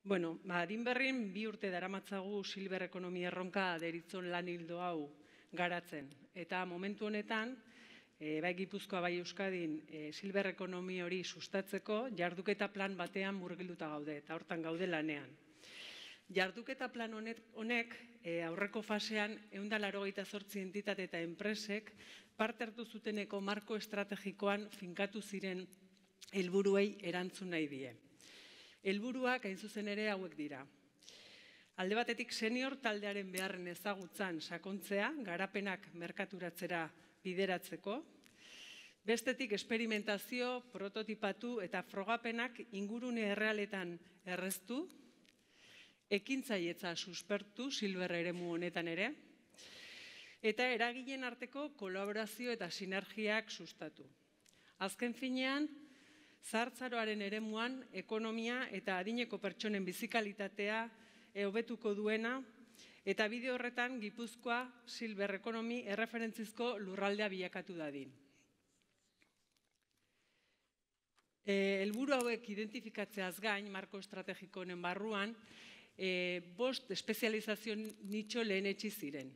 Adinberrin 2 urte daramatzagu silber ekonomia erronka deritzon lan hildo hau garatzen. Eta momentu honetan, bai Gipuzkoa bai Euskadin silber ekonomi hori sustatzeko jarduketa plan batean murgilduta gaude eta hortan gaude lanean. Jarduketa plan honek aurreko fasean 188 entitate eta enpresek parte hartu zuteneko marko estrategikoan finkatu ziren helburuei erantzun nahi die. Helburuak hain zuzen ere hauek dira. Alde batetik senior taldearen beharren ezagutzan sakontzea, garapenak merkaturatzera bideratzeko. Bestetik esperimentazio, prototipatu eta frogapenak ingurune errealetan erreztu, ekintzailetza suspertu silber eremu honetan ere, eta eragileen arteko kolaborazio eta sinergiak sustatu. Azken finean, zahartzaroaren eremuan ekonomia eta adineko pertsonen bizikalitatea hobetuko duena eta bide horretan Gipuzkoa silber ekonomi erreferentzizko lurraldea bilakatu dadin. Helburu hauek identifikatzeaz gain, marko estrategiko honen barruan, 5 espezializazio nitxo lehenetsi ziren.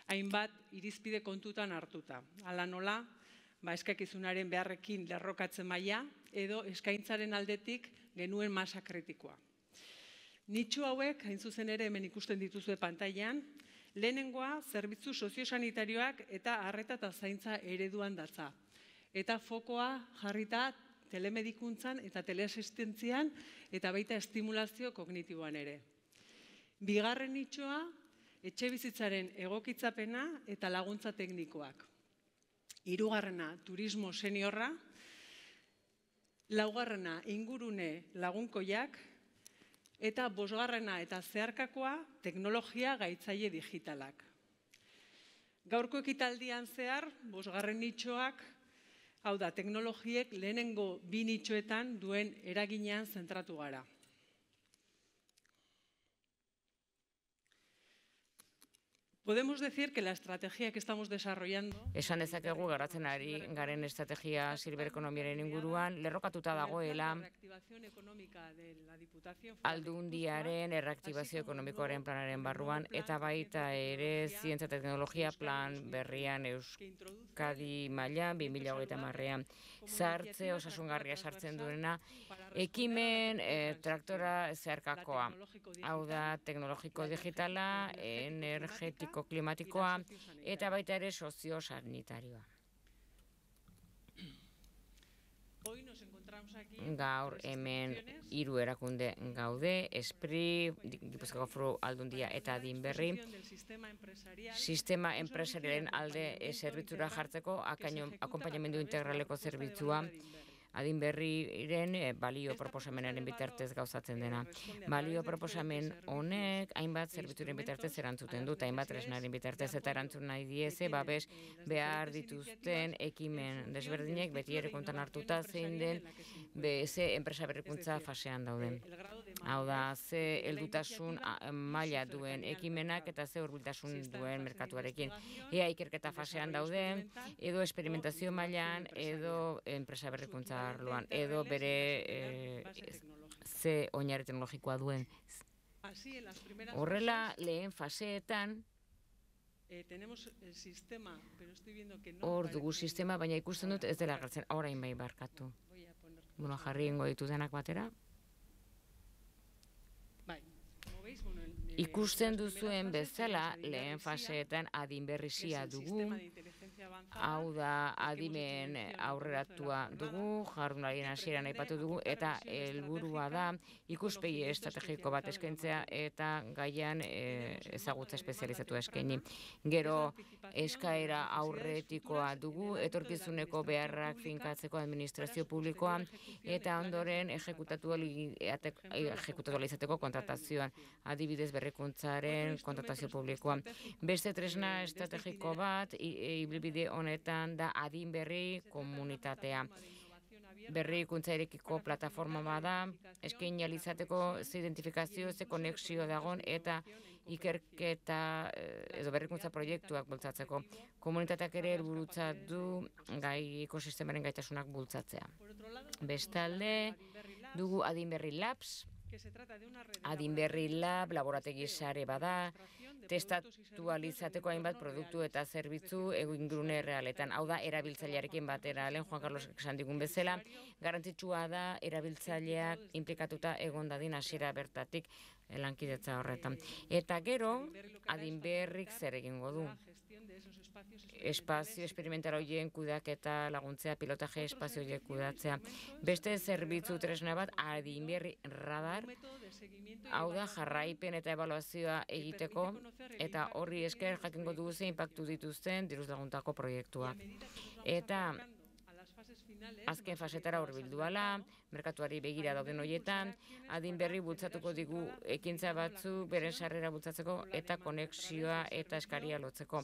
Hainbat irizpide kontutan hartuta. Hala nola, eskakizunaren beharrekin lerrokatzen maila edo eskaintzaren aldetik genuen masa kritikoa. Nitxo hauek, hain zuzen ere hemen ikusten dituzue pantailan, lehenengoa zerbitzu soziosanitarioak eta arreta eta zaintza ereduan datza. Eta fokoa jarrita telemedikuntzan eta teleasistentzian eta baita estimulazio kognitiboan ere. Bigarren nitxoa, etxe bizitzaren egokitzapena eta laguntza teknikoak. Hirugarrena, turismo seniorra. Laugarrena, ingurune lagunkoiak. Eta 5. eta zeharkakoa, teknologia gaitzaile digitalak. Gaurko ekitaldian zehar, 5. nitxoak, hau da, teknologiek lehenengo 2 nitxoetan duen eraginean zentratu gara. Podemos decir que la estrategia que estamos desarrollando... Esan dezakegu garatzen ari garen estrategia silber ekonomiaren inguruan lerrokatuta dagoela Aldundiaren erreaktibazio ekonomikoaren planaren barruan eta baita ere zientzia teknologia plan berrian Euskadi mailan 2030ean sartze osasungarria sartzen duena ekimen traktora zeharkakoa. Hau da teknologiko digitala, energetiko klimatikoa eta baita ere soziosanitarioa. Gaur hemen 3 erakunde gaude, ESPRI, Gipuzkoako Foru Aldundia eta Adinberri, sistema enpresarialen alde zerbitzura jartzeko akonpainamendu integraleko zerbitzua Adinberriren balio proposamenaren bitartez gauzatzen dena. Balio proposamen honek hainbat zerbitzuren bitartez erantzuten dut, hainbat tresnaren bitartez eta erantzun nahi diese, babes behar dituzten ekimen desberdinek beti ere kontan hartuta zein den ze enpresa berrikuntza fasean dauden. Hau da, ze heldutasun maila duen ekimenak eta ze hurbiltasun duen merkatuarekin. Ea ikerketa fasean dauden, edo esperimentazio mailan, edo enpresa berrikuntza arloan, edo bere ze oinarri teknologikoa duen. Horrela, lehen faseetan hor dugu sistema, baina ikusten dut ez dela gertzen, orain bai barkatu. Jarri ingo ditu denak batera. Ikusten duzuen bezala, lehen faseetan adinberrizia dugu, hau da adimen aurreratua dugu, jardunarien hasieran aipatu dugu, eta helburua da ikuspegi estrategiko bat eskaintzea eta gaian ezagutza espezializatua eskaini. Gero eskaera aurretikoa dugu, etorkizuneko beharrak finkatzeko administrazio publikoa, eta ondoren ejekutatu izateko kontratazioan, adibidez berrikuntzaren kontratazio publikoa. Beste tresna estrategiko bat, ibilbide honetan da Adinberri komunitatea. Berrikuntza erekiko plataforma bada, eskaini ahal izateko ze identifikazio, ze konexio dagon eta ikerketa edo berrikuntza proiektuak bultzatzeko. Komunitateak ere helburutzat du gai ekosistemaren gaitasunak bultzatzea. Bestalde, dugu Adinberri Labs, Adinberri lab, laborategi sare bada, testatu alizateko hainbat produktu eta zerbitzu ingurune realetan. Hau da, erabiltzailearekin batera, lehen Juan Carlos esan digun bezala, garrantzitsua da erabiltzaileak inplikatuta egon dadin hasiera bertatik lankidetza horretan. Eta gero, Adinberrik zer egingo du? Espazio esperimental horien kudeaketa laguntzea, pilotaje espazio horiek kudeatzea. Beste zerbitzu tresna bat, Adinberri radar, hau da jarraipen eta ebaluazioa egiteko, eta horri esker jakingo dugu ze inpaktu dituzten diruz laguntako proiektuak. Eta azken fasetara hurbildu ahala, merkatuari begira dauden horietan, Adinberri bultzatuko digu ekintza batzu beren sarrera bultzatzeko eta konexioa eta eskaria lotzeko.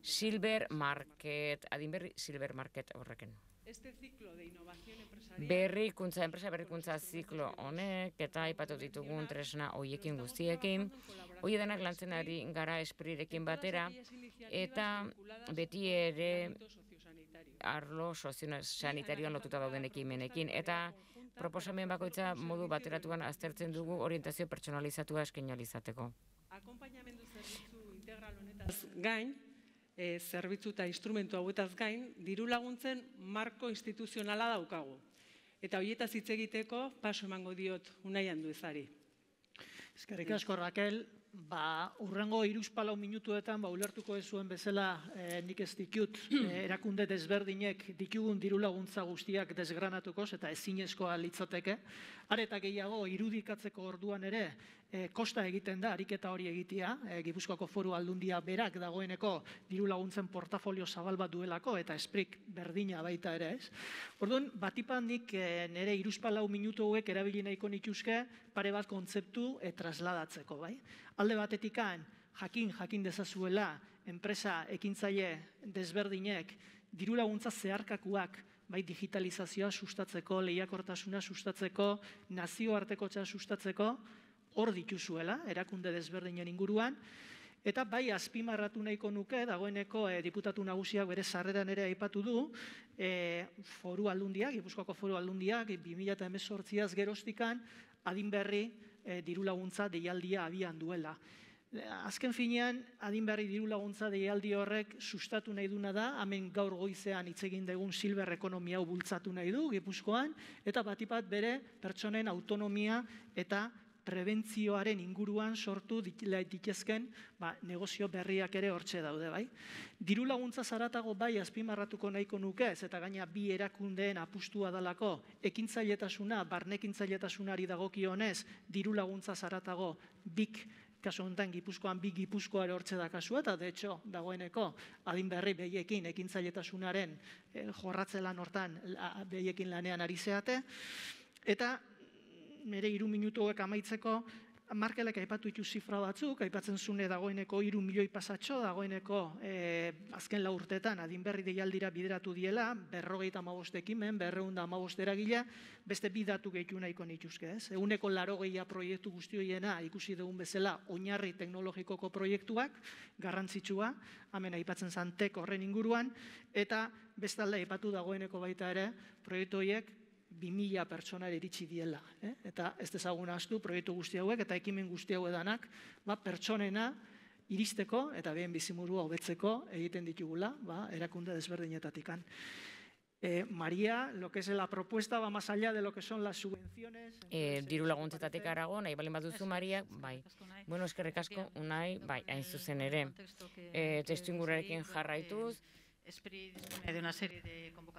Silver Market, Adinberri Silver Market horrekin. Enpresa berrikuntza ziklo honek eta aipatu ditugun tresna hoiekin guztiekin. Hoi denak lantzen ari gara esprirekin batera eta beti ere arlo sozio-sanitarioan lotuta dauden ekimenekin. Eta proposamen bakoitza modu bateratuan aztertzen dugu orientazio pertsonalizatua eskaini ahal izateko. Akonpainamendu zerbitzu integral honetaz gain, zerbitzu eta instrumentu hauetaz gain, diru laguntzen marko instituzionala daukagu. Eta horietaz hitz egiteko paso emango diot Unai Anduezari. Eskerrik asko, Raquel. Urrengo 3-4 minutuetan ulertuko ez zuen bezala nik ez ditut erakunde desberdinek ditugun diru laguntza guztiak desgranatuko eta ezinezkoa litzateke. Are eta gehiago irudikatzeko orduan ere kosta egiten da ariketa hori egitea. Gipuzkoako Foru Aldundia berak dagoeneko diru laguntzen portafolio zabal bat duelako eta esprik berdina baita ere, ez? Orduan, batipan nik nire 3-4 minutu hauek erabili nahiko nituzke pare bat kontzeptu trasladatzeko, bai? Alde batetikan, jakin dezazuela, enpresa ekintzaile desberdinek, diru laguntza zeharkakuak, bai digitalizazioa sustatzeko, lehiakortasuna sustatzeko, nazioartekotza sustatzeko, hor dituzuela, erakunde desberdinen inguruan, eta bai azpimarratu nahiko nuke, dagoeneko diputatu nagusiak bere sarreran ere aipatu du, Foru Aldundiak, Gipuzkoako Foru Aldundiak, 2018az geroztikan, Adinberri diru laguntza deialdia abian duela. Azken finean, Adinberri diru laguntza deialdi horrek sustatu nahi duna da, hemen gaur goizean hitz egin dugun silver ekonomia hau bultzatu nahi du Gipuzkoan, eta batipat bere pertsonen autonomia eta prebentzioaren inguruan sortu ditezken negozio berriak ere hortxe daude, bai. Diru laguntza zaratago bai azpimarratuko nahiko nuke, eta gaina bi erakundeen apustua dalako, ekintzailetasuna, barnekintzailetasunari dagokionez, diru laguntza zaratago bik, kasu honetan Gipuzkoan bi Gipuzkoa ere hortxe da kasua, eta de hecho, dagoeneko, Adinberri behiekin ekintzailetasunaren jorratze lan hortan behiekin lanean ari zeate, eta nire 3 minutuak amaitzeko, Markelek aipatu ditu zifra batzuk, aipatzen zune dagoeneko 3 milioi pasatxo, dagoeneko azken 4 urteetan Adinberri deialdira bideratu diela, 55 ekimen, 215 eragile, beste bi datu gehitu nahiko nituzke, ez? 180 proiektu guzti horiena ikusi dugun bezala oinarri teknologikoko proiektuak, garrantzitsua, hemen aipatzen zantek horren inguruan, eta bestalde aipatu dagoeneko baita ere, proiektu horiek 2000 pertsonari iritsi diela. Eta ez dezagun ahaztu proiektu guzti hauek eta ekimen guzti hauedanak pertsonena iristeko eta behen bizimurua hobetzeko egiten ditugula erakunde desberdinetatikan. María, lo que es la propuesta va más allá de lo que son las subvenciones. Diru laguntzetatik arago, nahi balen baduzu, Maria, bai. Bueno, eskerrik asko, Unai, bai, hain zuzen ere. Testu ingurarekin jarraituz,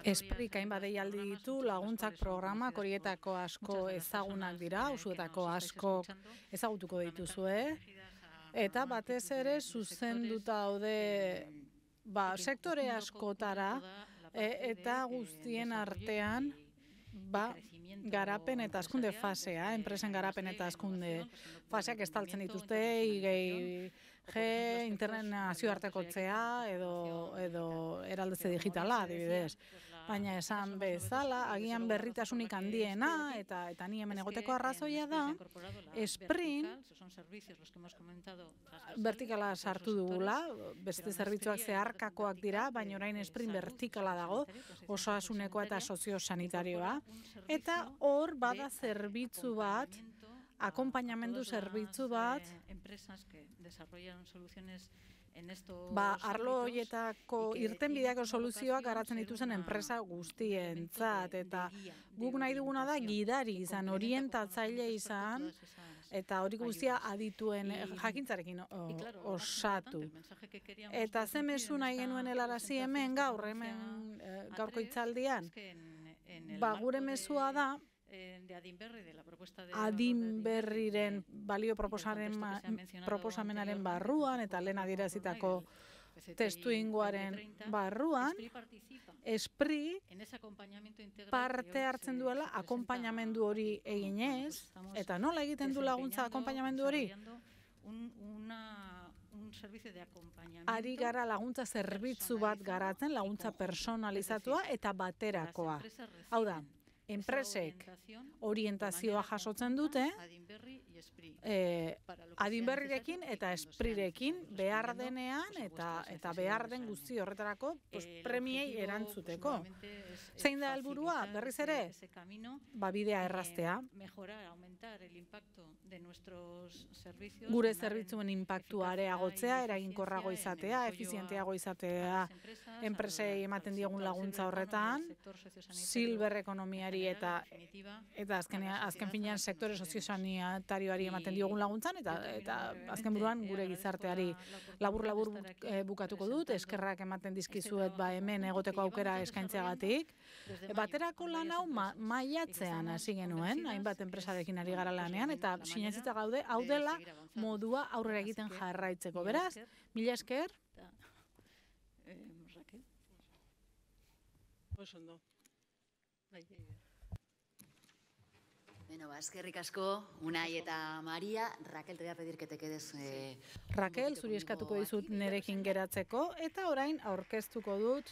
Esprik hainbat deialdi ditu, laguntzak programak horietako asko ezagunak dira, usuetako asko ezagutuko dituzue, eta batez ere zuzenduta daude sektore askotara eta guztien artean garapen eta hazkunde fasea, enpresen garapen eta hazkunde faseak estaltzen dituzte, internet nazioartekotzea edo eraldetze digitala, adibidez. Baina esan bezala, agian berritasunik handiena, eta ni hemen egoteko arrazoia da, Sprint vertikala sartu dugula, beste zerbitzuak zeharkakoak dira, baina orain Sprint vertikala dago, osasunekoa eta soziosanitarioa, eta hor bada zerbitzu bat, akonpainamendu zerbitzu bat, arlo horietako irtenbideako soluzioak garatzen dituzen enpresa guztientzat, eta guk nahi duguna da gidari izan, orientatzaile izan, eta hori guztia adituen jakintzarekin osatu. Eta ze mezu nahi genuen helarazi hemen gaurko hitzaldian, gure mezua da, Adinberriren balio proposamenaren barruan eta lehen adierazitako testuinguaren barruan, ESPRI parte hartzen duela akonpainamendu hori eginez, eta nola egiten du laguntza akonpainamendu hori? Ari gara laguntza zerbitzu bat garatzen, laguntza personalizatua eta baterakoa. Hau da, enpresek orientazioa jasotzen dute, Adinberrirekin eta ESPRIrekin behar denean eta behar den guzti horretarako premiei erantzuteko. Zein da helburua? Berriz ere, bidea erraztea. Gure zerbitzuen inpaktua areagotzea, eraginkorrago izatea, efizienteago izatea, enpresei ematen diegun laguntza horretan, silver ekonomiari eta azken finean sektore soziosanitarioari ematen diogun laguntzan, eta azken buruan gure gizarteari labur bukatuko dut, eskerrak ematen dizkizuet hemen egoteko aukera eskaintzeagatik. Baterako lan hau maiatzean hasi genuen, hainbat enpresarekin ari gara lanean, eta sinetsita gaude, hau dela modua aurrera egiten jarraitzeko. Beraz, mila esker. Osondo. Eskerrik asko, Unai eta Maria. Raquel, te voy a pedir que te quedes... Raquel, zuri eskatuko dizut nerekin geratzeko, eta orain aurkeztuko dut